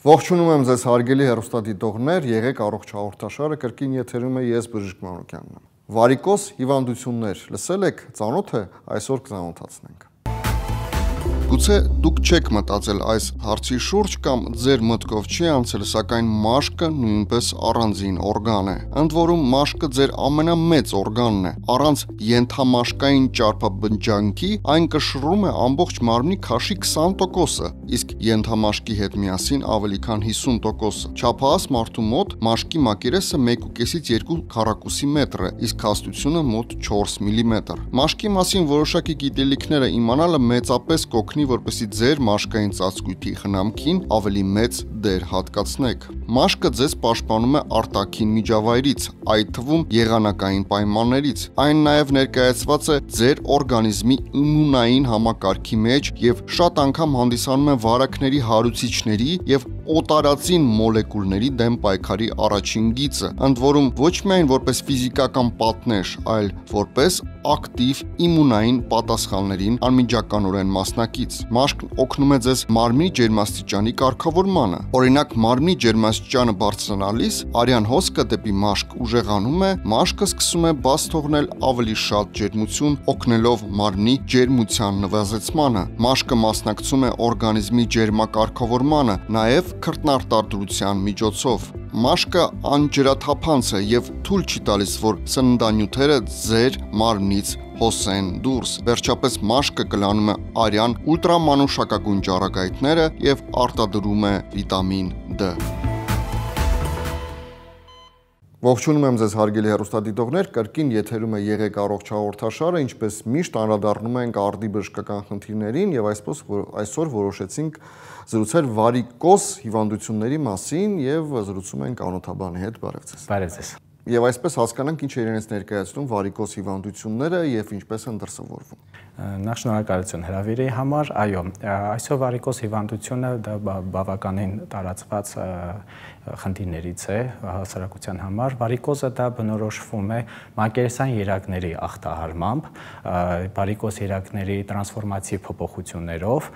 Ողջունում եմ ձեզ հարգելի հեռուստադիտողներ, եղեք առողջ հաղորդաշարը կրկին եթերում է ես Բժիշկ Մանուկյանն եմ։ Վարիկոզ հիվանդություններ լսել եք, ծանոթ է, այսօր կծանոթացնենք։ Գուցե դուք չեք մտածել այս հարցի շուրջ կամ ձեր մտքով չի անցել, սակայն մաշկը նույնպես առանձին օրգան է։ Ընդ որում մաշկը ձեր ամենամեծ օրգանն է։ Առանց ենթամաշկային ճարպաբնջանքի այն կշռում է ամբողջ մարմնի քաշի 20%-ը, իսկ ենթամաշկի հետ միասին ավելի քան 50%-ը։ Չափահաս մարդու մոտ մաշկի մակերեսը 1.5-ից 2 քառակուսի մետր է, իսկ հաստությունը մոտ 4 մմ։ Մաշկի մասին որոշակի գիտելիքները իմանալը մեծապես կօգնի, որպեսզի ձեր մաշկային ծածկույթի խնամքին ավելի մեծ դեր հատկացնեք։ Մաշկը ձեզ պաշտպանում է արտաքին միջավայրից, այդ թվում եղանակային պայմաններից։ Այն նաև ներկայացված է ձեր օրգանիզմի իմունային համակարգի մեջ եւ շատ անգամ հանդիսանում է վարակների հարուցիչների եւ օտարածին մոլեկուլների դեմ պայքարի առաջին գիծը, ընդ որում ոչ միայն որպես ֆիզիկական պատնեշ, այլ որպես ակտիվ իմունային պատասխաններին անմիջականորեն մասնակից։ Մաշկն օգնում է ձեզ մարմնի ջերմաստիճանի կարգավորմանը։ Օրինակ, մարմնի ջերմաստիճանը բարձրանալիս արյան հոսքը դեպի մաշկ ուժեղանում է, մաշկը սկսում է բաց թողնել ավելի շատ ջերմություն, օգնելով մարմնի ջերմության նվազեցմանը։ Մաշկը մասնակցում է օրգանիզմի ջերմակարգավորմանը, նաև քրտնարտադրության միջոցով։ Մաշկը անջրաթափանց է եւ թույլ չի տալիս, որ սննդանյութերը ձեր մարմնից հոսեն դուրս։ Վերջապես մաշկը կլանում է արյան ուլտրամանուշակագույն ճառագայթները եւ արտադրում է վիտամին D։ Ողջունում եմ ձեզ հարգելի հեռուստադիտողներ, կրկին եթերում է եղեք առողջ հաղորդաշարը, ինչպես միշտ անդրադառնում ենք արդի բժշկական խնդիրներին եւ այսօր որոշեցինք զրուցել վարիկոզ հիվանդությունների մասին եւ զրուցում ենք անոթաբանի հետ։ Բարև ձեզ։ Բարև ձեզ։ Եվ այսպես հասկանանք ինչ է իրենից ներկայացնում վարիկոզ հիվանդությունները եւ ինչպես են դրսևորվում։ Նախ շնորհակալություն հրավիրի համար։ Այո, այսօր վարիկոզ հիվանդությունը դա բավականին տարածված խնդիրներից է հասարակության համար։ Վարիկոզը դա բնորոշվում է մակերեսային երակների ախտահարմամբ, վարիկոզ երակների տրանսֆորմացիվ փոփոխություններով,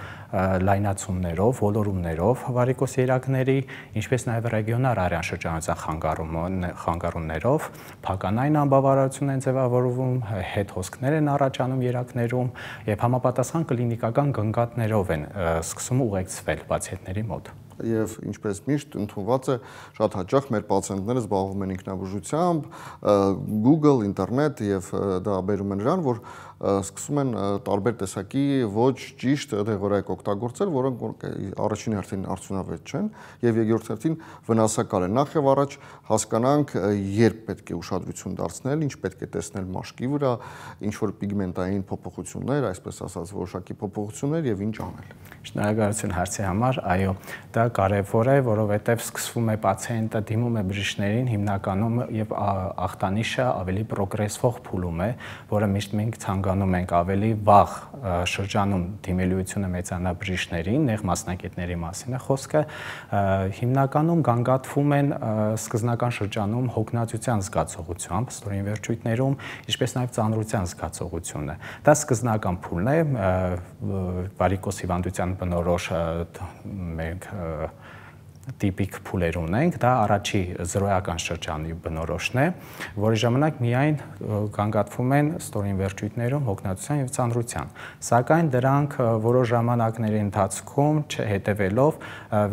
լայնացումներով, ոլորումներով վարիկոզ երակների, ինչպես նաև ռեգիոնալ արյան շրջանաձան խանգարումներով, փականային անբավարարություն են ձևավորվում, հետ հոսքներ են առաջանում երակներում եւ համապատասխան կլինիկական գնկատներով են սկսում ուղեկցվել պացիենտների մոտ։ Եվ ինչպես միշտ ընդունված է, շատ հաճախ մեր պացիենտները զբաղվում են ինքնաբուժությամբ, Google, ինտերնետ եւ դա բերում է նրան, որ սկսում են տարբեր տեսակի ոչ ճիշտ դեղորայք օգտագործել, որոնք առաջին հերթին արդյունավետ չեն եւ երկրորդ հերթին վնասակար են։ Նախ եւ առաջ հասկանանք, երբ պետք է ուշադրություն դարձնել, ինչ պետք է տեսնել մաշկի վրա, ինչ որ պիգմենտային փոփոխություններ, այսպես ասած, որոշակի փոփոխություններ եւ ինչ անել։ Շնորհակալություն հարցի համար։ Այո, դա կարևոր է, որովհետև սկսվում է պացիենտը դիմում է բժիշկներին հիմնականում եւ ախտանիշը ավելի պրոգրեսվող փուլում է, որը միշտ մենք ցանկանում ենք ավելի վաղ շրջանում դիմելիությունը մեծանա բժիշկներին, նեղ մասնագետների մասին է խոսքը, հիմնականում գանգատվում են սկզբնական շրջանում հոգնածության զգացողությամբ, ստորին վերջույթներում, ինչպես նաև ծանրության զգացողությունը։ Դա սկզբնական փուլն է, վարիկոզ հիվանդության բնորոշ մենք տիպիկ փուլեր ունենք, դա առաջի զրոյական շրջանի բնորոշն է, որի ժամանակ միայն գանգատվում են ստորին վերջույթներում հոգնածության եւ ծանրության։ Սակայն դրանք որոշ ժամանակների ընթացքում չհետևելով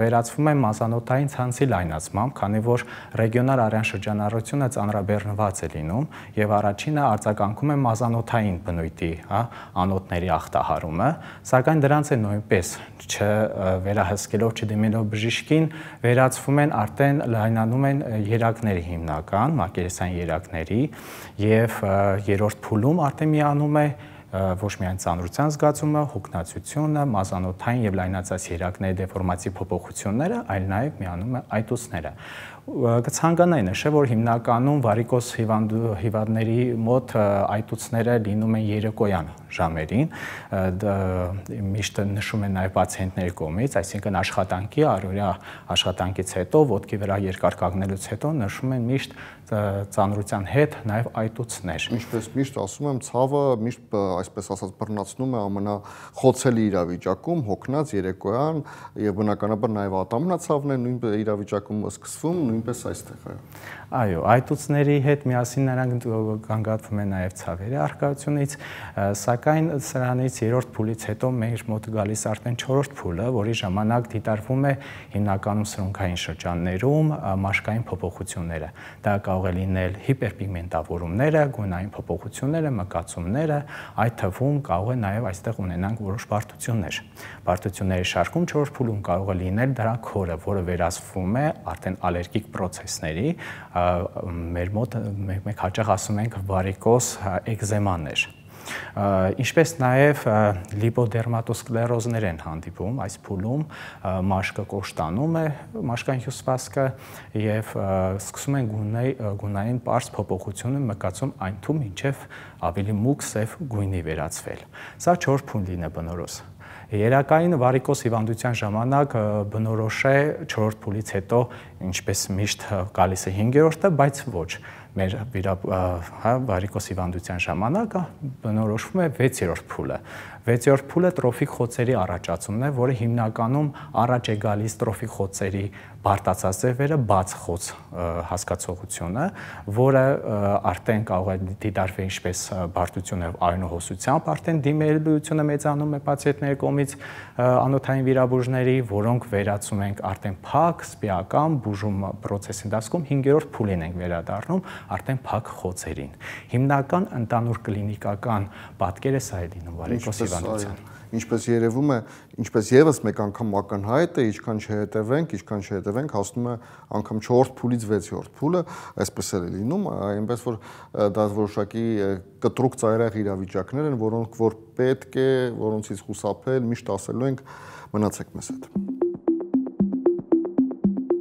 վերածվում են մազանոթային ցանցի լայնացմամբ, քանի որ ռեգիոնալ արյան շրջանառությունը ծանրաբեռնված է լինում եւ առաջինը արձագանքում է մազանոթային բնույթի, անոթների ախտահարումը, սակայն դրանց է նույնպես չվերահսկելով, չդիմելով բժիշկին, վերածվում են արդեն լայնանում են երակների հիմնական, մակերեսային երակների եւ երրորդ փուլում արդեն միանում է ոչ միայն ծանրության զգացումը, հոգնածությունը, մազանոթային եւ լայնացած երակների դեֆորմացիվ փոփոխությունները, այլ նաեւ միանում է այտուցները։ Կցանկանայի նշել, որ հիմնականում վարիկոզ հիվանդների մոտ այտուցները լինում են երեկոյան ժամերին, միշտ նշում են նաև պացիենտների կողմից, այսինքն աշխատանքի, առօրյա աշխատանքից հետո, ոտքի վրա երկար կանգնելուց հետո նշում են միշտ ծանրության հետ նաև այտուցներ։ Ինչպես միշտ ասում եմ, ցավը միշտ այսպես ասած բռնացնում է ամենախոցելի իրավիճակում, հոգնած երեկոյան եւ բնականաբար նաեւ ատամնացավն է նույն իրավիճակում սկսվում, նույնպես այստեղ է։ Այո, այտուցների հետ միասին նրանք գանգատվում են նաև ցավերի առկայությունից, սակայն սրանից երրորդ փուլից հետո մեր մոտ գալիս արդեն չորրորդ փուլը, որի ժամանակ դիտարկվում է հիմնականում սրունքային շրջաններում մաշկային փոփոխությունները։ Դա կարող է լինել հիպերպիգմենտավորումները, գունային փոփոխությունները, մկացումները, այդ թվում կարող է նաև այստեղ ունենանք որոշ բարդություններ։ Բարդությունների շարքում չորրորդ փուլում կարող է լինել դրա քորը, որը վերածվում է արդեն ալերգիկ պրոցեսների, մեր մոտ մենք հաճախ ասում ենք վարիկոզ էկզեմաներ։ Ինչպես նաև լիպոդերմատոսկլերոզներ են հանդիպում այս փուլում, մաշկը կոշտանում է, մաշկային հյուսվածքը եւ սկսում են գունային պարզ փոփոխությունը մկացում այն թվում մինչև ավելի մուգ սև գույնի վերածվել։ Սա չորրորդ փուլին է բնորոշ։ Երակային վարիկոզ հիվանդության ժամանակ բնորոշ է չորրորդ փուլից հետո, ինչպես միշտ գալիս է 5-րդը, բայց ոչ։ Մեր վարիկոզ հիվանդության ժամանակ բնորոշվում է 6-րդ փուլը։ 6-րդ փուլը տրոֆիկ խոցերի առաջացումն է, որը հիմնականում առաջ է գալիս տրոֆիկ խոցերի բարդացած ձևերը, բաց խոց հասկացողությունը, որը արդեն կարող է դիտարկվել ինչպես բարդությունը արյունահոսությամբ, արդեն դիմելությունը մեծանում է պացիենտների կողմից անոթային վիրաբույժների, որոնք վերածում ենք արդեն փակ, սպիական բուժում պրոցեսի ընթացքում 5-րդ փուլին ենք վերադառնում արդեն փակ խոցերին։ Հիմնական ընդանուր կլինիկական պատկերը սա է լինում վարիկոզ հիվանդության։ Ինչպես երևում է, ինչպես եւս մեկ անգամ ակնհայտ է, ինչքան չհետևենք, հասնում է անգամ 4-րդ փուլից 6-րդ փուլը, այսպես է լինում, այնպես որ դա որոշակի կտրուկ ծայրահեղ իրավիճակներ են, որոնք որ պետք է, որոնցից խուսափել, միշտ ասելու ենք, մնացեք մեզ հետ։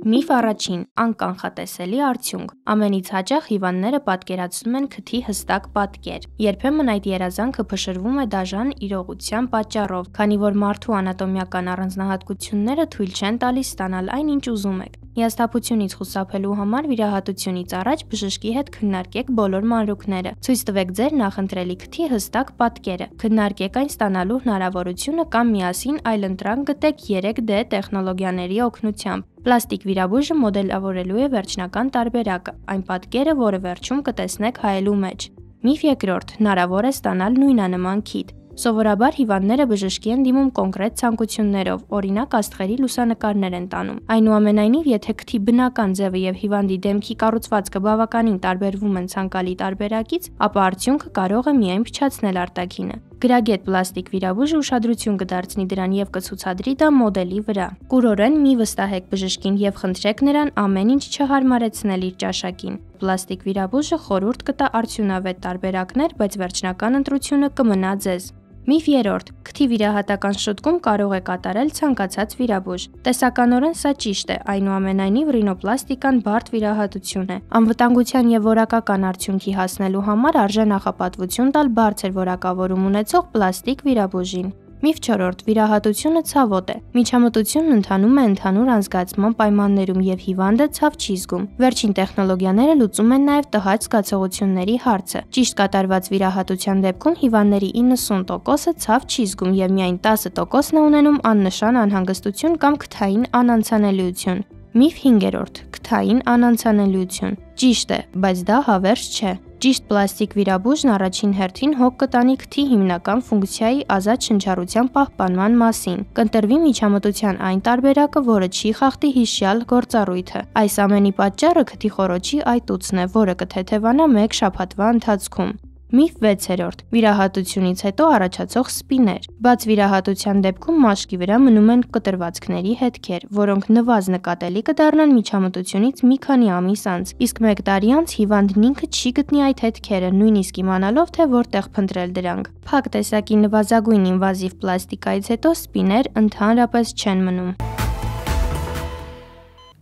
Միֆ առաջին՝ անկանխատեսելի արդյունք։ Ամենից հաճախ հիվանդները պատկերացնում են քթի հստակ պատկեր։ Երբեմն այդ երազանքը փշրվում է դաժան իրողության պատճառով, քանի որ մարդու անատոմիական առանձնահատկությունները թույլ չեն տալիս ստանալ այն, ինչ ուզում եք։ Հիասթափությունից խուսափելու համար վիրահատությունից առաջ բժշկի հետ քննարկեք բոլոր մանրուքները։ Ցույց տվեք ձեր նախընտրելի քթի հստակ պատկերը։ Քննարկեք այն ստանալու հնարավորությունը կամ միասին այլընտրանք գտեք 3D տեխնոլոգիաների օգնությամբ։ Պլաստիկ վիրաբույժը մոդելավորելու է վերջնական տարբերակը, այն պատկերը, որը վերջում կտեսնեք հայելու մեջ։ Միֆ երկրորդ՝ հնարավոր է ստանալ նույնանման քիթ։ Սովորաբար հիվանդները բժշկի են դիմում կոնկրետ ցանկություններով, օրինակ աստղերի լուսանկարներ են տանում։ Այնուամենայնիվ, եթե քթի բնական ձևը եւ հիվանդի դեմքի կառուցվածքը բավականին տարբերվում են ցանկալի տարբերակից, ապա արդյունքը կարող է միայն փչացնել արտաքինը։ Գրագետ պլաստիկ վիրաբույժը ուշադրություն կդարձնի դրան եւ կցուցադրի դա մոդելի վրա։ Կուրորեն մի վստահեք բժշկին եւ խնդրեք նրան ամեն ինչ չհարմարեցնել իր ճաշակին։ Պլաստիկ վիրաբույժը խորհուրդ կտա արդյունավետ տարբերակներ, բայց վերջնական ընտրությունը կմնա ձեզ։ Միֆ երրորդ՝ քթի վիրահատական շտկում կարող է կատարել ցանկացած վիրաբույժ։ Տեսականորեն սա ճիշտ է, այնուամենայնիվ ռինոպլաստիկան բարդ վիրահատություն է։ Անվտանգության եւ որակական արդյունքի հասնելու համար արժե նախապատվություն տալ բարձր որակավորում ունեցող պլաստիկ վիրաբույժին։ Միֆ չորրորդ՝ վիրահատությունը ցավոտ է։ Միջամտությունն ընթանում է ընդհանուր անզգացման պայմաններում եւ հիվանդը ցավ չի զգում։ Վերջին տեխնոլոգիաները լուծում են նաեւ տհաճ զգացողությունների հարցը։ Ճիշտ կատարված վիրահատության դեպքում հիվանդների 90%-ը ցավ չի զգում եւ միայն 10%-ն է ունենում աննշան անհանգստություն կամ քթային անանցանելիություն։ Միֆ 5-րդ՝ քթային անանցանելիություն։ Ճիշտ է, բայց դա հավերժ չէ։ Ճիշտ պլաստիկ վիրաբույժն առաջին հերթին հոգ կտանի քթի հիմնական ֆունկցիայի ազատ շնչառության պահպանման մասին։ Կընտրվի միջամտության այն տարբերակը, որը չի խախտի հիշյալ գործառույթը։ Այս ամենի պատճառը քթի խոռոչի այտուցն է, որը կթեթևանա 1 շաբաթվա ընթացքում։ Միֆ 6-րդ՝ վիրահատությունից հետո առաջացող սպիներ։ Բաց վիրահատության դեպքում մաշկի վրա մնում են կտրվածքների հետքեր, որոնք նվազ նկատելի կդառնան միջամտությունից մի քանի ամիս անց, իսկ 1 տարի անց հիվանդն ինքը չի գտնի այդ հետքերը, նույնիսկ իմանալով, թե որտեղ փնտրել դրանք։ Փակ տեսակի նվազագույն ինվազիվ պլաստիկայից հետո սպիներ ընդհանրապես չեն մնում։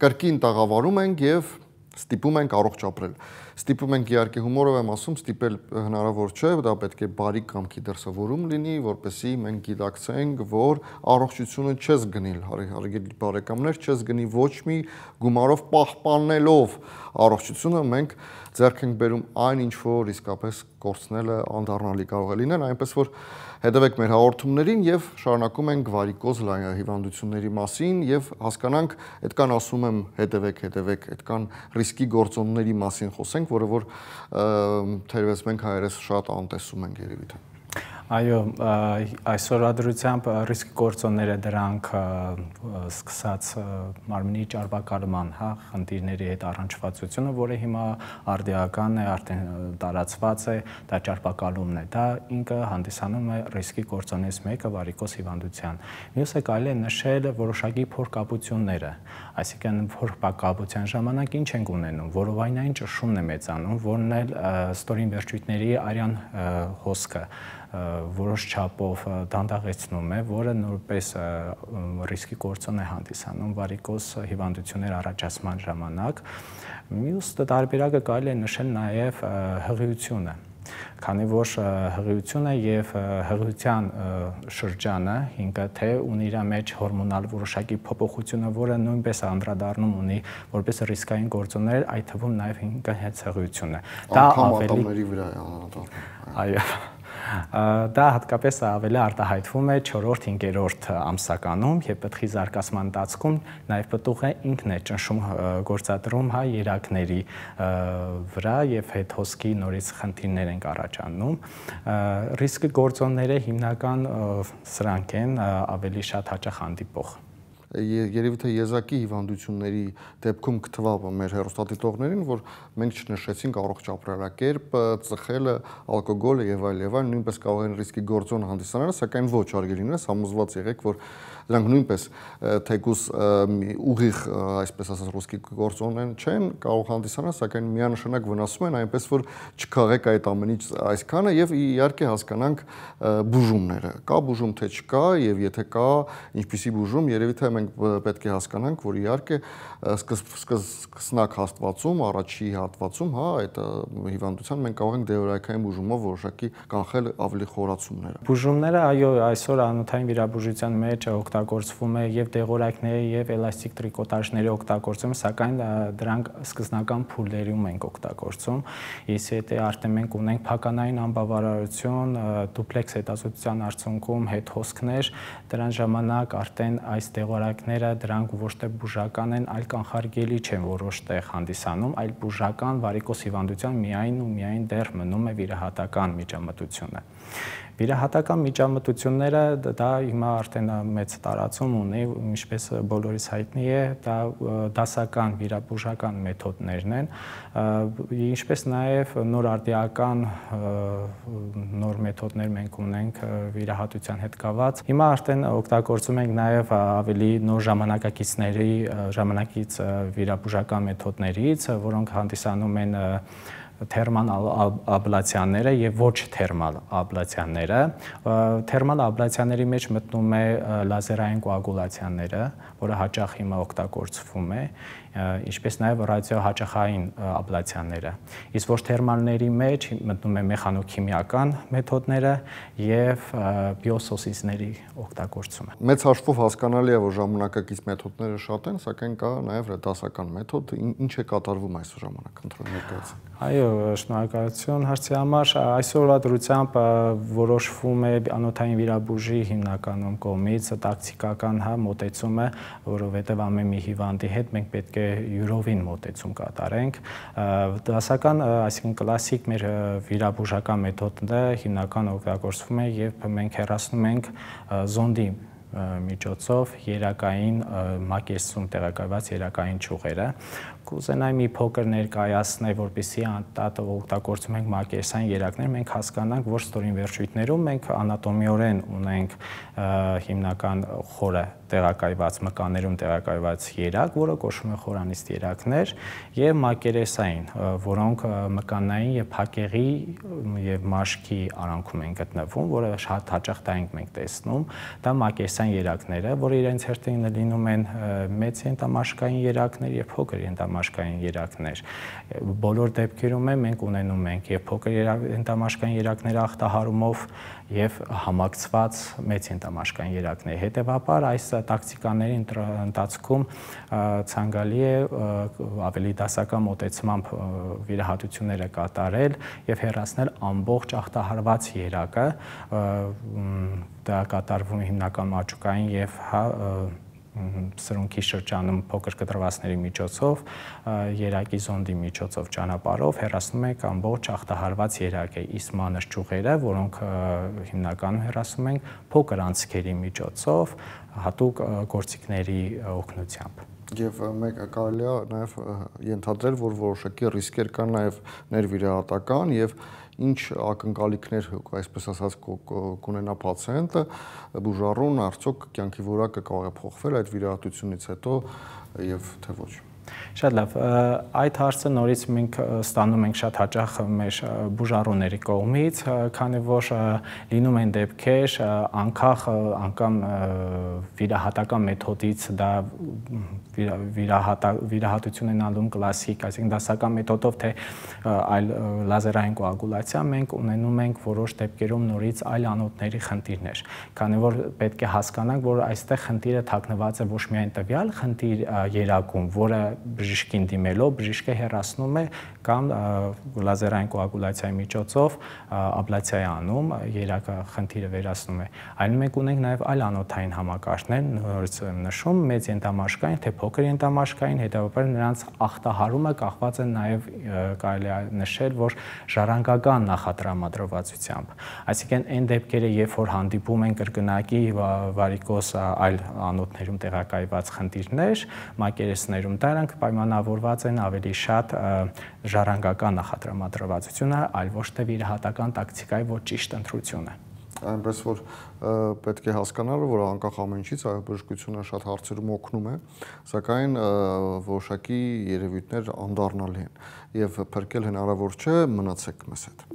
Կրկին տաղավարում ենք եւ Ստիպում ենք առողջ ապրել։ Ստիպում ենք իհարկե հումորով եմ ասում, ստիպել հնարավոր չէ, դա պետք է բարի կամքի դրսևորում լինի, որպեսզի մենք գիտակցենք, որ առողջությունը չես գնի, հարգելի բարեկամներ, չես գնի ոչ մի գումարով պահպանելով առողջությունը մենք ձեռք ենք բերում այն ինչ որ իսկապես կորցնելը անդառնալի կարող է լինել, այնպես որ հետևեք մեր հաղորդումներին եւ շարունակում ենք վարիկոզ հիվանդությունների մասին եւ հասկանանք, այդքան ասում եմ հետևեք, այդքան ռիսկի գործոնների մասին խոսենք, որը որ թերևս մենք հայերս շատ անտեսում ենք երևի թե։ Այո, այսօրվա դրությամբ ռիսկի գործոնները դրանք սկսած մարմնի ճարպակալման, խնդիրների հետ առնչվածությունը, որը հիմա արդիական է, արդեն տարածված է, դա ճարպակալումն է, դա ինքը հանդիսանում է ռիսկի գործոնից մեկը վարիկոզ հիվանդության։ Մյուսը կարելի է նշել որոշակի փորկապությունները, այսինքն փորկապության ժամանակ ինչ ենք ունենում, որովայնային ճնշումն է մեծանում, որն էլ ստորին վերջույթների արյան հոսքը որոշ չափով դանդաղեցնում է, որը նորպես ռիսկի գործոն է հանդիսանում վարիկոզ հիվանդություններ առաջացման ժամանակ։ Մյուս տարբերակը կարելի է նշել նաև հղիությունը, քանի որ հղիությունը եւ հղիության շրջանը ինքը թե ունի իր մեջ հորմոնալ որոշակի փոփոխությունը, որը նույնպես անդրադառնում ունի որպես ռիսկային գործոններ, այդ թվում նաև ինքը հենց հղիությունն է։ Դա ատամների վրա է անդրադառնում։ Այո։ Դա հատկապես ավելի արտահայտվում է 4-րդ, 5-րդ ամսականում եւ պտղի զարգացման ընթացքում նաեւ պտուղը ինքն է ճնշում գործադրում երակների վրա եւ հետ հոսքի նորից խնդիրներ են առաջանում։ Ռիսկի գործոնները հիմնական սրանք են ավելի շատ հաճախ հանդիպող։ Երևի թե եզակի հիվանդությունների դեպքում կթվա մեր հեռուստադիտողներին, որ մենք չնշեցինք առողջ ապրելակերպ, ծխելը, ալկոգոլը եւ այլ, նույնպես կարող են ռիսկի գործոն հանդիսանալ, սակայն ոչ արգելիներս համոզված եղեք, որ դրանք նույնպես թեկուս ուղիղ, այսպես ասած, ռիսկի գործոններ չեն, կարող հանդիսանալ, սակայն միանշանակ վնասում են, այնպես որ չքաղեք այդ ամենից այսքանը եւ իհարկե հասկանանք բուժումները։ Կա բուժում թե չկա եւ եթե կա, ինչպիսի բուժում, երևի թե մենք պետք է հասկանանք, որ իհարկե սկսնակ հաստվածում, առաջի հատվածում, այդ հիվանդության մենք կարող ենք դեղորայքային բուժումով որոշակի կանխել ավելի խորացումները։ Բուժումները, այո, այսօր անոթային վիրաբուժության մեջ օգտագործվում է եւ դեղորայքների եւ էլաստիկ տրիկոտաժների օգտագործում, սակայն դրանք սկզբնական փուլերում ենք օգտագործում։ Իսկ եթե արդեն մենք ունենք փականային անբավարարություն, դուպլեքս հետազոտության արդյունքում հետ հոսքներ, դրան ժամանակ արդեն այս դեղորայքները դրանք ոչ թե բուժական են, այլ կանխարգելի չեն որոշ տեղ հանդիսանում, այլ բուժական վարիկոզ հիվանդության միայն դեռ մնում է վիրահատական միջամտությունը։ Վիրահատական միջամտությունները դա հիմա արդեն մեծ տարածում ունի, ինչպես բոլորիս հայտնի է, դա դասական վիրաբուժական մեթոդներն են, ինչպես նաև նոր արդիական նոր մեթոդներ մենք ունենք վիրահատության հետ կապված։ Հիմա արդեն օգտագործում ենք նաև ավելի նոր ժամանակից վիրաբուժական մեթոդներից, որոնք հանդիսանում են թերմալ աբլացիաները եւ ոչ թերմալ աբլացիաները։ Թերմալ աբլացիաների մեջ մտնում է լազերային կոագուլացիաները, որը հաճախ հիմա օգտագործվում է, ինչպես նաև ռադիոհաճախային աբլացիաները։ Իսկ ոչ թերմալների մեջ մտնում է մեխանոքիմիական մեթոդները եւ բիոսոսիզների օգտագործումը։ Մեծ հաշվով հասկանալի է, որ ժամանակակից մեթոդները շատ են, սակայն կա նաև դասական մեթոդ, ինչ է կատարվում այս ժամանակ, ընտրել ներկայացնենք։ Այո, շնորհակալություն հարցի համար։ Այսօրվա դրությամբ որոշվում է անոթային վիրաբուժի հիմնականում կողմից տակտիկական մոտեցումը, որովհետև ամեն մի հիվանդի հետ մենք պետք է յուրովին մոտեցում կատարենք։ Դասական, այսինքն կլասիկ մեր վիրաբուժական մեթոդը հիմնական օգտագործվում է, երբ մենք հեռացնում ենք զոնդի միջոցով երակային մակերսում տեղակայված երակային ճյուղերը։ Կուզենայի մի փոքր ներկայացնել, որպեսզի անդադար օգտագործում ենք մակերսային երակներ, մենք հասկանանք, որ ստորին վերջույթներում մենք անատոմիորեն ունենք հիմնական խորը տեղակայված մկաններում տեղակայված երակ, որը կոչվում է խորանիստ երակներ, եւ մակերեսային, որոնք մկանային եւ փակեղի եւ մաշկի արանքում են գտնվում, որը շատ հաճախ դա ենք մենք տեսնում, դա մակերեսային երակները, որը իրենց հերթին լինում են մեծ ենթամաշկային երակներ եւ փոքր ենթամաշկային երակներ։ Բոլոր դեպքերում մենք ունենում ենք եւ փոքր ենթամաշկային երակները ախտահարումով եւ համակցված մեծ ենթամաշկային երակներ։ Հետևաբար այս տակտիկաների ընթացքում ցանկալի է ավելի դասական մոտեցմամբ վիրահատությունները կատարել եւ հեռացնել ամբողջ ախտահարված երակը, դա կատարվում է հիմնականում աճուկային եւ սրունքի շրջանում փոքր կտրվածների միջոցով, երակի զոնդի միջոցով ճանապարհով հեռացնում ենք ամբողջ ախտահարված երակը, իսկ մանր ճյուղերը, որոնք հիմնականում հեռացնում ենք փոքր անցքերի միջոցով, հատուկ գործիքների օգնությամբ։ Եվ մեկ կարելի է նաև ենթադրել, որ որոշակի ռիսկեր կան նաև ներվիրահատական եւ ինչ ակնկալիքներ, այսպես ասած, կունենա պացիենտը, բուժառուն արդյոք կյանքի որակը կարող է փոխվել այդ վիրահատությունից հետո եւ թե ոչ։ Շատ լավ, այդ հարցը նորից մենք ստանում ենք շատ հաճախ մեր բուժառուների կողմից, քանի որ լինում են դեպքեր անգամ վիրահատական մեթոդից դա վիրահատություն են անում կլասիկ, այսինքն դասական մեթոդով, թե այլ լազերային կոագուլյացիա, մենք ունենում ենք որոշ դեպքերում նորից այլ անոթների խնդիրներ, քանի որ պետք է հասկանանք, որ այստեղ խնդիրը թաքնված է ոչ միայն տվյալ խնդիր երակում, որը բժիշկին դիմելով բժիշկը հեռացնում է կամ լազերային կոագուլյացիայի միջոցով աբլացիա է անում, երակը խնդիրը վերացնում է, այլ մենք ունենք նաև այլ անոթային համակարգներ, նորից եմ նշում, մեծ ենթամաշկային, թե փոքր ենթամաշկային, հետևաբար նրանց ախտահարումը կախված է նաև կարելի է նշել, որ ժառանգական նախատրամադրվածությամբ, այսինքն այն դեպքերը, երբ որ հանդիպում են կրկնակի վարիկոզ այլ անոթներում տեղակայված խնդիրներ, մակերեսներում դրանք պայմանավորված են ավելի շատ ժառանգական նախատրամադրվածությունը, այլ ոչ թե վիրահատական տակտիկայի ոչ ճիշտ ընտրությունը։ Այնպես որ պետք է հասկանալ, որ անկախ ամեն ինչից բժշկությունը շատ հարցերում օգնում է, սակայն որոշակի երևույթներ անդառնալի են եւ փրկել հնարավոր չէ, մնացեք մեզ հետ։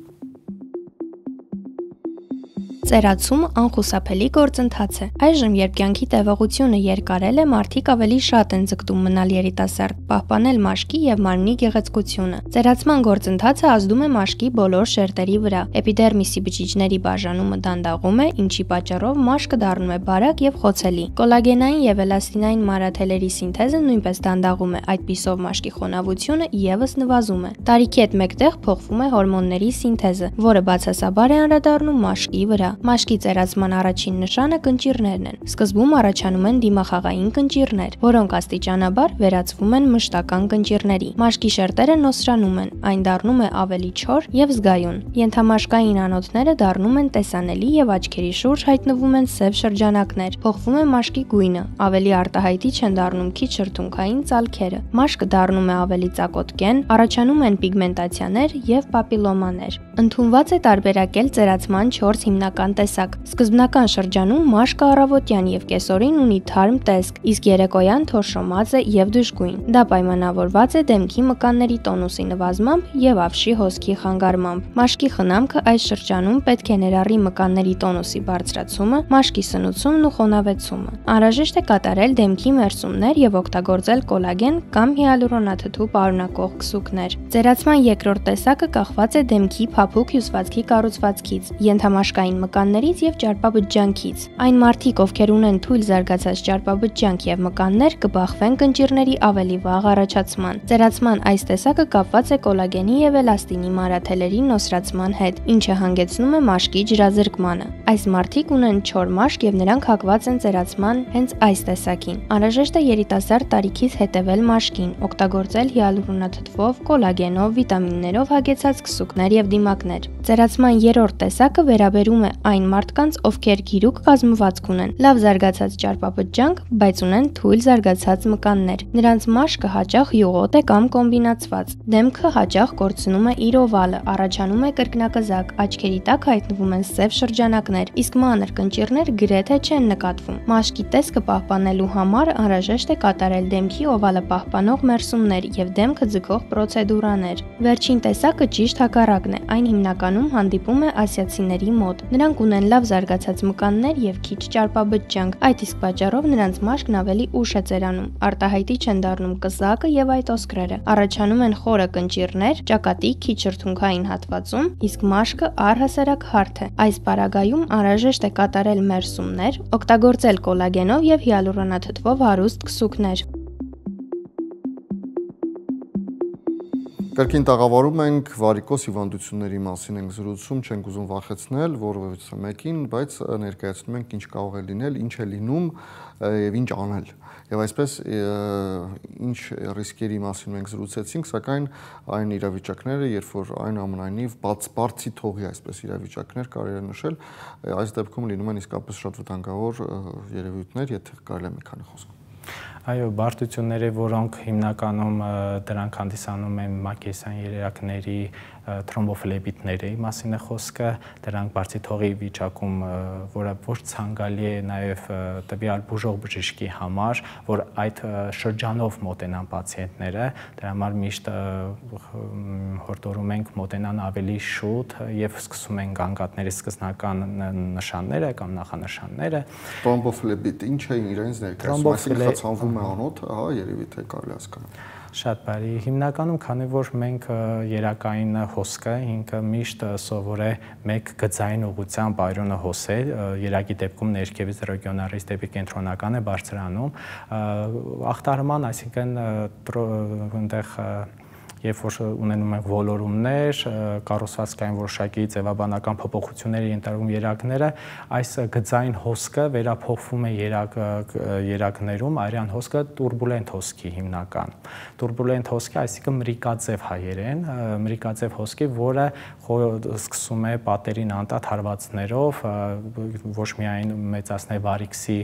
Ծերացում անխուսափելի գործընթաց է։ Այժմ, երբ կյանքի տևողությունը երկարել է, մարդիկ ավելի շատ են ձգտում մնալ երիտասարդ, պահպանել մաշկի եւ մարմնի գեղեցկությունը։ Ծերացման գործընթացը ազդում է մաշկի բոլոր շերտերի վրա։ Էպիդերմիսի բջիջների բաժանումը դանդաղում է, ինչի պատճառով մաշկը դառնում է բարակ եւ խոցելի։ Կոլագենային եւ էլաստինային մանրաթելերի սինթեզը նույնպես դանդաղում է, այդպիսով մաշկի խոնավությունը եւս նվազում է։ Տարիքի հետ մեկտեղ փոխվում է հորմոնների սինթեզը, որը բացասաբար է անդրադառնում մաշկի վրա։ Մաշկի ծերացման առաջին նշանը կնճիռներն են։ Սկզբում առաջանում են դիմախաղային կնճիռներ, որոնք աստիճանաբար վերածվում են մշտական կնճիռների։ Մաշկի շերտերը նոսրանում են, այն դառնում է ավելի չոր եւ զգայուն։ Ենթամաշկային անոթները դառնում են տեսանելի եւ աչքերի շուրջ հայտնվում են սև շրջանակներ։ Փոխվում է մաշկի գույնը, ավելի արտահայտիչ են դառնում քիչ շրթունքային ծալքերը։ Մաշկը դառնում է ավելի ծակոտկեն, առաջանում են պիգմենտացիաներ եւ պապիլոմաներ։ Ընդունված է տարբերակել ծերացման 4 հիմնական տեսակ։ Սկզբնական շրջանում մաշկը առավոտյան եւ կեսօրին ունի թարմ տեսք, իսկ երեկոյան թորշոմած է եւ դժգույն։ Դա պայմանավորված է դեմքի մկանների տոնուսի նվազմամբ եւ ավշի հոսքի խանգարմամբ։ Մաշկի խնամքը այս շրջանում պետք է ներառի մկանների տոնուսի բարձրացումը, մաշկի սնուցումն ու խոնավեցումը։ Անհրաժեշտ է կատարել դեմքի մերսումներ եւ օգտագործել կոլագեն կամ հիալուրոնաթթու պարունակող քսուկներ։ Ծերացման երկրորդ տեսակը կախված է դեմքի փափուկ հյուսվածքի կառուցվածքից, ենթամաշկային մկաններից եւ ճարպաբջջանքից։ Այն մարդիկ, ովքեր ունեն թույլ զարգացած ճարպաբջջանք եւ մկաններ, կբախվեն կնճիռների ավելի վաղ առաջացման։ Ծերացման այս տեսակը կապված է կոլագենի եւ էլաստինի մանրաթելերի նոսրացման հետ, ինչը հանգեցնում է մաշկի ջրազրկմանը։ Այս մարդիկ ունեն չոր մաշկ եւ նրանք հակված են ծերացման հենց այս տեսակին։ Անհրաժեշտ է երիտասարդ տարիքից հետևել մաշկին, օգտագործել հիալուրոնաթթվով, կոլագենով, վիտամիններով հագեցած քսուկներ եւ դիմակներ։ Ծերացման երրորդ տեսակը վերաբերում է այն մարդկանց, ովքեր գիրուկ կազմվածք ունեն, լավ զարգացած ճարպաբջջանք, բայց ունեն թույլ զարգացած մկաններ։ Նրանց մաշկը հաճախ յուղոտ է կամ կոմբինացված։ Դեմքը հաճախ կորցնում է իր օվալը, առաջանում է կրկնակզակ, աչքերի տակ հայտնվում են սև շրջանակներ, իսկ մանր կնճիռներ գրեթե չեն նկատվում։ Մաշկի տեսքը պահպանելու համար անհրաժեշտ է կատարել դեմքի օվալը պահպանող մերսումներ եւ դեմքը ձգող պրոցեդուրաներ։ Վերջին տեսակը ճիշտ հակառակն է, այն հիմնականում հանդիպում է ասիացիների մոտ։ Նրանք ունեն լավ զարգացած մկաններ եւ քիչ ճարպաբջջանք, այդ իսկ պատճառով նրանց մաշկն ավելի ուշ է ծերանում, արտահայտի չեն դառնում կզակը եւ այդ օսկրերը։ Առաջանում են խորը կնճիռներ, ճակատի քիչ շրթունքային հատվածում, իսկ մաշկը առհասարակ հարթ է։ Այս պարագայում անհրաժեշտ է կատարել մերսումներ, օգտագործել կոլագենով եւ հիալուրոնաթթվով հարուստ քսուկներ։ Կրկին տաղավարում ենք վարիկոս հիվանդությունների մասին ենք զրուցում, չենք ուզում վախեցնել որևէ մեկին, բայց ներկայացնում ենք ինչ կարող է լինել, ինչ է լինում եւ ինչ անել։ Եվ այսպես ինչ ռիսկերի մասին մենք զրուցեցինք, սակայն այն իրավիճակները, երբ որ այնուամենայնիվ բարձի թողի այսպես իրավիճակներ կարելի է նշել, այս դեպքում լինում են իսկապես շատ վտանգավոր երևույթներ, եթե կարելի է մի քանի խոսք։ Այո, բարդությունները, որոնք հիմնականում դրանք հանդիսանում են մակերեսային երերակների թրոմբոֆլեբիտների մասին է խոսքը, դրանք բարձի թողի վիճակում, որը ոչ ցանկալի է նաև տվյալ բուժող բժշկի համար, որ այդ շրջանով մոտենան պացիենտները, դրա համար միշտ հորդորում ենք մոտենան ավելի շուտ եւ սկսում են գանգատների սկզբնական նշանները կամ նախանշանները։ Թրոմբոֆլեբիտ ինչ է իրենց ներկայացնում, այսինքն խցանվում է անոթը, հա, երևի թե կարելի հասկանալ։ Շատ բարի։ Հիմնականում, քանի որ մենք երակային հոսքը ինքը միշտ սովոր է մեկ գծային ուղղությամբ այրոնը հոսել, երակի դեպքում ներքևից ռեգիոնալից դեպի կենտրոնական է բարձրանում, ախտարման, այսինքն այնտեղ երբ որ ունենում են ոլորումներ, կառուցվածքային որոշակի ձևաբանական փոփոխությունների ենթարկում երակները, այս գծային հոսքը վերափոխվում է երակներում, այրյան հոսքը տուրբուլենտ հոսքի հիմնական։ Տուրբուլենտ հոսքի, այսինքն մրիկաձև հայերեն, մրիկաձև հոսքի, որը սկսում է պատերին անդադ հարվածներով, ոչ միայն մեծացնել վարիքսի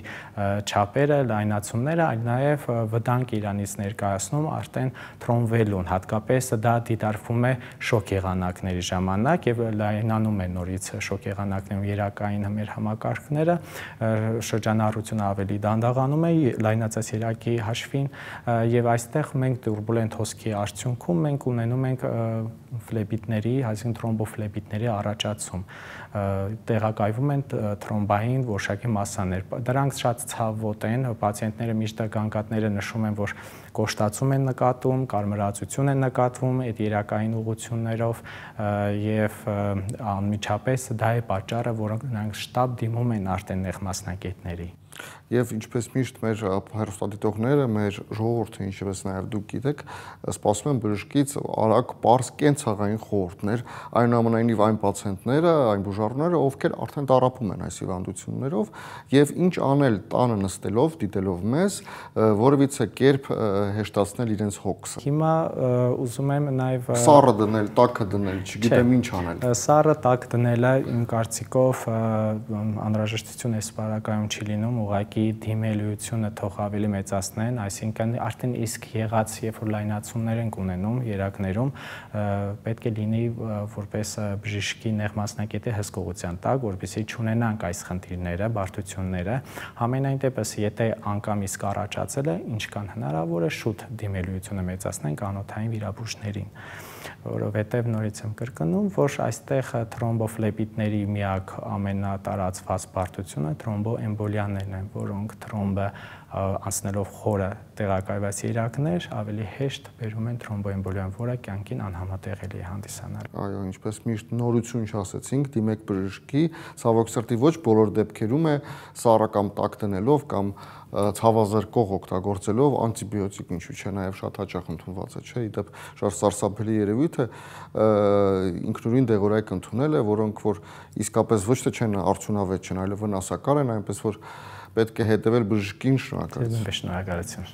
չափերը, լայնացումները, այլ նաև վտանգ իրանից ներկայացնում արդեն թրոմբվելուն, հատկապես դա դիտարկվում է շոկ եղանակների ժամանակ եւ լայնանում է նորից շոկ եղանակներում երակային մեր համակարգները, շրջանառությունը ավելի դանդաղանում է լայնացած երակի հաշվին եւ այստեղ մենք տուրբուլենտ հոսքի արդյունքում մենք ունենում ենք ֆլեբիտների, այսինքն թրոմբոֆլեբիտների առաջացում, տեղակայվում են թրոմբային որոշակի մասսաներ։ Դրանք շատ ցավոտ են, պացիենտները միշտ գանգատները նշում են, որ կոշտացում են նկատում, կարմրացություն են նկատվում այդ երակային ուղղություններով եւ անմիջապես դա է պատճառը, որ նրանք շտապ դիմում են արդեն նեղ մասնագետների։ Եվ ինչպես միշտ մեր հեռուստադիտողները, մեր ժողովուրդը, ինչպես նաև դուք գիտեք, սպասում են բժշկից արագ, պարզ կենցաղային խորհուրդներ, այնուամենայնիվ այն պացիենտները, այն բուժառուները, ովքեր արդեն տառապում են այս հիվանդություններով, եւ ինչ անել տանը նստելով, դիտելով մեզ, որևիցե կերպ հեշտացնել իրենց հոգսը։ Հիմա ուզում եմ նաև սառը դնել, տաքը դնել, չգիտեմ ինչ անել։ Սառը տաք դնելը իմ կարծիքով անհրաժեշտություն այս բարակայում չի լինում, ուղղակի դիմելիությունը թող ավելի մեծացնեն, այսինքն արդեն իսկ եղած, երբ որ լայնացումներ են ունենում երակներում, պետք է լինի որպես բժշկի նեղ մասնագետի հսկողության տակ, որպեսզի չունենանք այս խնդիրները, բարդությունները, համենայն դեպս, եթե անգամ իսկ առաջացել է, ինչքան հնարավոր է շուտ դիմելիությունը մեծացնենք անոթային վիրաբույժներին, որովհետև նորից եմ կրկնում, որ այստեղ թրոմբոֆլեբիտների միակ ամենատարածված բարդությունը թրոմբոէմբոլիաներն են, որոնք թրոմբը անցնելով խորը տեղակայված երակներ ավելի հեշտ բերում են թրոմբոէմբոլիան, որը կյանքին անհամատեղելի է հանդիսանալ։ Այո, ինչպես միշտ նորություն չասեցինք, դիմեք բժշկի, ցավոք սրտի ոչ բոլոր դեպքերում է սառը կամ տաք դնելով կամ ցավազրկող օգտագործելով անտիբիոտիկ, ինչու՞ չէ, նաև շատ հաճախ ընդունված է, չէ՞, իդեպ շատ սարսափելի երևույթ է ինքնուրույն դեղորայք ընդունել է, որոնք որ իսկապես ոչ թե չեն արդյունավետ չեն, այլ վնասակար են, այնպես որ պետք է հետևել բժշկին, շնորհակալություն։ Շնորհակալություն։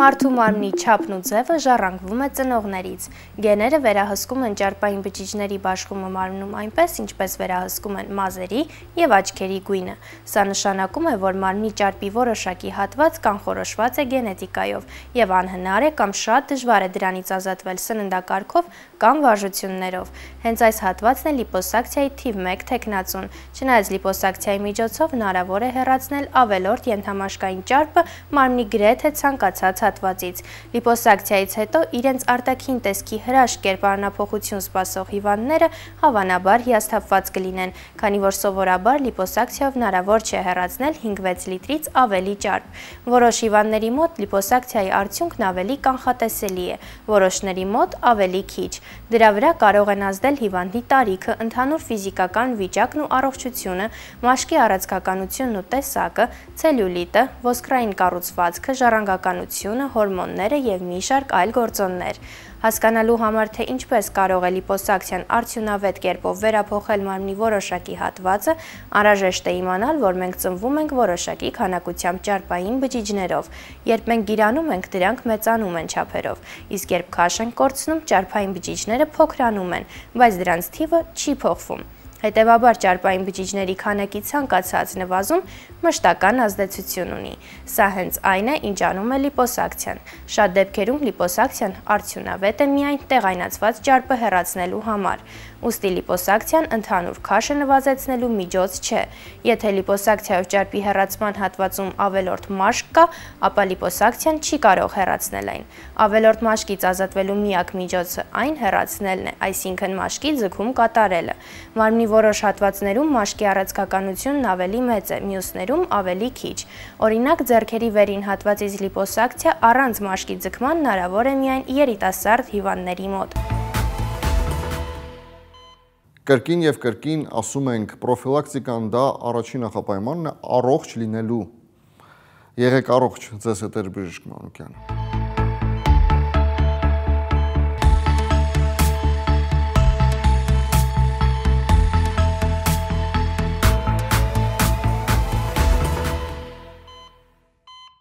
Մարդու մարմնի չափն ու ձևը ժառանգվում է ծնողներից։ Գեները վերահսկում են ճարպային բջիջների բաշխումը մարմնում այնպես, ինչպես վերահսկում են մազերի և աչքերի գույնը։ Սա նշանակում է, որ մարմնի ճարպի որոշակի հատված կանխորոշված է գենետիկայով և անհնար է կամ շատ դժվար է դրանից ազատվել սննդակարգով կամ վարժություններով։ Հենց այս հատվածն է լիպոսակցիայի թիվ 1 թեկնածուն։ Չնայած լիպոսակցիայի միջոցով հնարավոր է հեռացնել ավելորդ ենթամաշկային ճարպը մարմնի գրեթե ցանկացած հատվածից։ Լիպոսակցիայից հետո իրենց արտաքին տեսքի հրաշք կերպարանափոխություն սպասող հիվանդները հավանաբար հիասթափված կլինեն, քանի որ սովորաբար լիպոսակցիայով հնարավոր չէ հեռացնել 5-6 լիտրից ավելի ճարպ։ Որոշ հիվանդների մոտ լիպոսակցիայի արդյունքն ավելի կանխատեսելի է, որոշների մոտ ավելի քիչ։ Դրա վրա կարող են ազդել հիվանդի տարիքը, ընդհանուր ֆիզիկական վիճակն ու առողջությունը, մաշկի առանցքականությունն ու տեսակը, ցելյուլիտը, ոսկրային կառուցվածքը, ժառանգականությունը, հորմոնները և մի շարք այլ գործոններ։ Հասկանալու համար, թե ինչպես կարող է լիպոսակցիան արդյունավետ կերպով վերափոխել մարմնի որոշակի հատվածը, անհրաժեշտ է իմանալ, որ մենք ծնվում ենք որոշակի քանակությամբ ճարպային բջիջներով։ Երբ մենք գիրանում ենք, դրանք մեծանում են չափերով, իսկ երբ քաշ ենք կորցնում, ճարպային բջիջները փոքրանում են, բայց դրանց թիվը չի փոխվում։ Հետևաբար ճարպային բջիջների քանակի ցանկացած նվազում մշտական ազդեցություն ունի։ Սա հենց այն է, ինչ անում է լիպոսակցիան։ Շատ դեպքերում լիպոսակցիան արդյունավետ է միայն տեղայնացված ճարպը հեռացնելու համար։ Ուստի լիպոսակցիան ընդհանուր քաշը նվազեցնելու միջոց չէ։ Եթե լիպոսակցիայով ճարպի հեռացման հատվածում ավելորդ մաշկ կա, ապա լիպոսակցիան չի կարող հեռացնել այն։ Ավելորդ մաշկից ազատվելու միակ միջոցը այն հեռացնելն է, այսինքն մաշկի ձգում կատարելը։ Մարմնի որոշ հատվածներում մաշկի առանցքականությունն ավելի մեծ է, մյուսներում ավելի քիչ։ Օրինակ, ձեռքերի վերին հատվածից լիպոսակցիա առանց մաշկի ձգման հնարավոր է միայն երիտասարդ հիվանդների մոտ։ Կրկին և կրկին ասում ենք պրոֆիլակտիկան դա առաջին նախապայմանն է առողջ լինելու։ Եղեք առողջ, ձեզ հետ էր Բժիշկ Մանուկյանը։